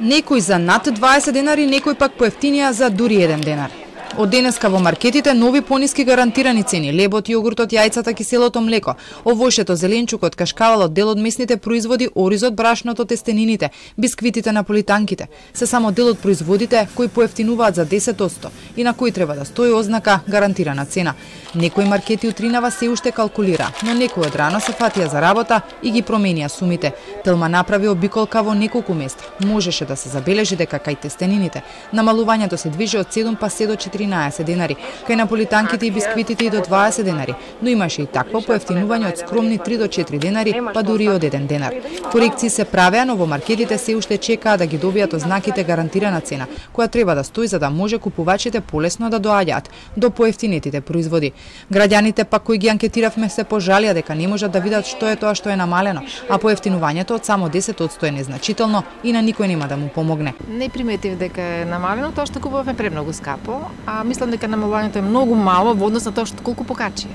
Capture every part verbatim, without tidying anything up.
Некој за над дваесет денари, некој пак поевтинија за дури еден денар. Од денеска во маркетите нови пониски гарантирани цени: лебот, јогуртот, јајцата, киселото млеко, овошето, зеленчукот, кашкавалот, дел од месните производи, оризот, брашното, тестенините, бисквитите, наполитанките. Се само дел од производите кои поевтинуваат за десет одсто и на кои треба да стои ознака гарантирана цена. Некои маркети утринава се уште калкулира, но некои од рано се фатија за работа и ги променија сумите. Телма направи обиколка во неколку места. Можеше да се забележи дека кај тестенините намалувањето се движи од седум па се до четиринаесет денари, кај наполитанките и бисквитите и до дваесет денари, но имаше и такво поевтинување од скромни три до четири денари, па дури од еден денар. Корекции се правеа, но во маркетите се уште чекаа да ги добијат ознаките гарантирана цена, која треба да стои за да може купувачите полесно да доаѓаат до поевтинетите производи. Граѓаните пак кои ги анкетиравме се пожалија дека не можат да видат што е тоа што е намалено, а поевтинувањето од само десет одсто е незначително и на никој нема да му помогне. Не приметив дека е намалено, тоа што купуваме премногу скапо, а мислам дека намалувањето е многу мало во однос на тоа што колку покачија.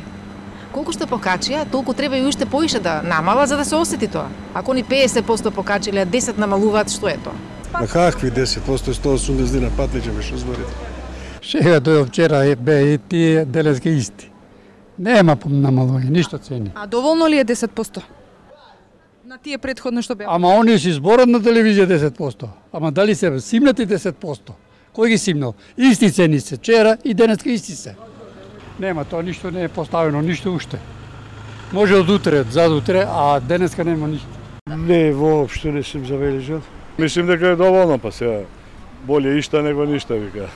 Колку што покачија, толку треба и уште поише да намала за да се осети тоа. Ако ни педесет одсто покачиле, десет намалуваат, што е тоа? На какви десет одсто, сто и осумдесет дина патлиќе беше зборите. Сега дојде вчера бе и тие денеска исти. Нема намалување, ништо цени. А доволно ли е десет одсто? На тие претходно што беа? Ама оние си зборат на телевизија десет одсто. Ама дали се симнати десет одсто? Кој ги симнал? Исти цени се вчера и денеска исти се. Нема, тоа ништо не е поставено, ништо уште. Може од утре, зад утре, а денеска нема ништо. Не, воопшто не сум забележал. Мислим дека е доволно, па сега боле ишта него ништа, вика.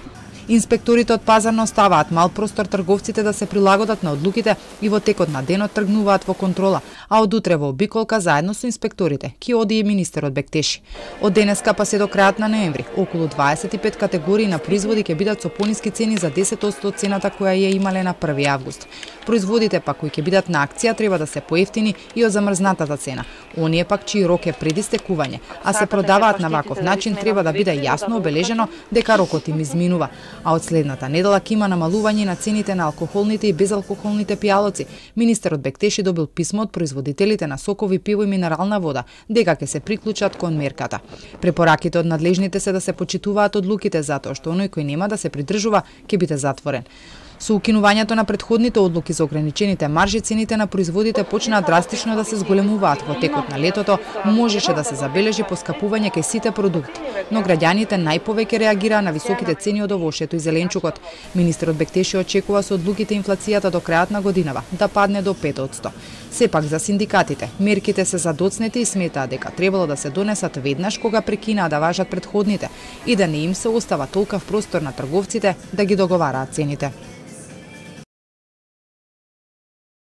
Инспекторите од пазарно оставаат мал простор трговците да се прилагодат на одлуките и во текот на денот тргнуваат во контрола, а од утре во обиколка заедно со инспекторите ќе оди и министерот Бектеши. Од денеска па се до крајот на ноември, околу дваесет и пет категории на производи ќе бидат со пониски цени за десет одсто од цената која ја имале на први август. Производите пак кои ќе бидат на акција треба да се поевтини и од замрзнатата цена. Оние пак чиј рок е пред истекување, а се продаваат на ваков начин, треба да биде јасно обележено дека рокот им изминува. А од следната недела ќе има намалување на цените на алкохолните и безалкохолните пијалоци. Министерот Бектеши добил писмо од производителите на сокови, пиво и минерална вода дека ќе се приклучат кон мерката. Препораките од надлежните се да се почитуваат одлуките затоа што оној кој нема да се придржува ќе биде затворен. Со укинувањето на претходните одлуки за ограничените маржи, цените на производите почнаа драстично да се зголемуваат. Во текот на летото можеше да се забележи поскапување кај сите продукти, но граѓаните најповеќе реагираа на високите цени од овошето и зеленчукот. Министерот Бектеши очекува со одлуките инфлацијата до крајот на годинава да падне до пет одсто. Сепак за синдикатите, мерките се задоцнети и сметаат дека требало да се донесат веднаш кога прекинаа да важат претходните и да не им се остава толкав простор на трговците да ги договараат цените.